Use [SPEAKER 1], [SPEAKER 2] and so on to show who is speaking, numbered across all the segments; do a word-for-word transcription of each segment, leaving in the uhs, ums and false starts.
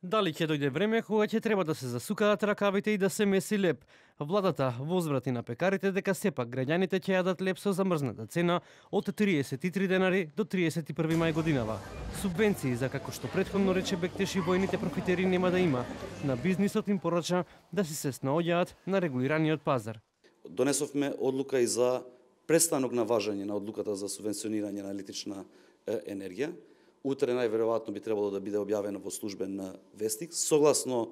[SPEAKER 1] Дали ќе дојде време кога ќе треба да се засукаат ракавите и да се меси леб? Владата возврати на пекарите дека сепак граѓаните ќе јадат леб со замрзната цена од триесет и три денари до триесет и први мај годинава. Субвенции за како што претходно рече Бектеш и војните профитери нема да има. На бизнисот им порача да си се снаоѓаат на регулираниот пазар.
[SPEAKER 2] Донесовме одлука и за престанок на важење на одлуката за субвенционирање на електрична енергија. Утре најверојатно би требало да биде објавено во службен вестник, согласно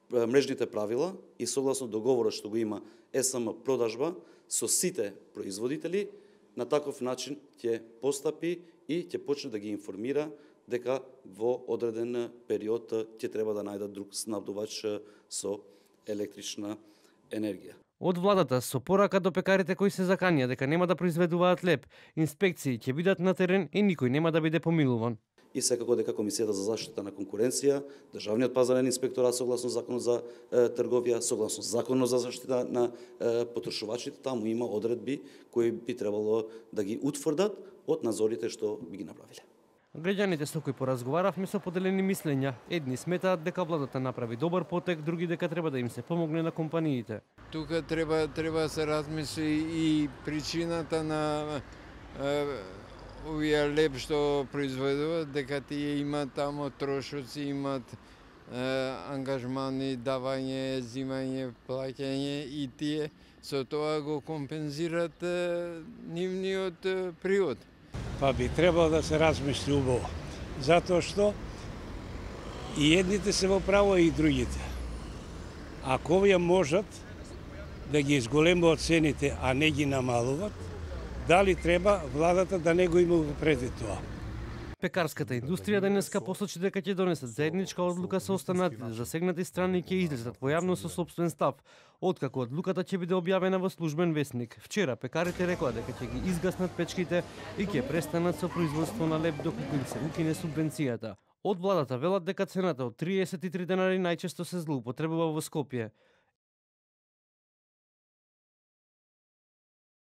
[SPEAKER 2] мрежните правила и согласно договорот што го има ЕСМ продажба со сите производители, на таков начин ќе постапи и ќе почне да ги информира дека во одреден период ќе треба да најдат друг снабдувач со електрична енергија.
[SPEAKER 1] Од владата со порака до пекарите кои се заканија дека нема да произведуваат леб, инспекции ќе бидат на терен и никој нема да биде помилуван.
[SPEAKER 2] И секако дека Комисијата за заштита на конкуренција, Државниот пазарен инспекторат согласно Законот за е, трговија, согласно Законот за заштита на е, потрошувачите, таму има одредби кои би требало да ги утврдат од надзорите што би ги направиле.
[SPEAKER 1] Граѓаните со кои поразговаравме со поделени мислења. Едни сметаат дека владата направи добар потек, други дека треба да им се помогне на компаниите.
[SPEAKER 3] Тука треба треба се размисли и причината на е, овие леб што произведуваат, дека тие имаат тамо трошоци, имаат е, ангажмани, давање, зимање, плаќање и тие со тоа го компензират е, нивниот е, приход.
[SPEAKER 4] Па би требало да се размисли убаво, затоа што и едните се во право и другите. Ако овие можат да ги изголемуваат цените, а не ги намалуваат, дали треба владата да не го има предвид тоа?
[SPEAKER 1] Пекарската индустрија денеска посочи дека ќе донесат заедничка одлука со останатите засегнати страни и ќе излезат во јавност со сопствен став, откако одлуката ќе биде објавена во службен вестник. Вчера пекарите рекоа дека ќе ги изгаснат печките и ќе престанат со производство на леб доколку им се укине субвенцијата. Од владата велат дека цената од триесет и три денари најчесто се злоупотребува во Скопје.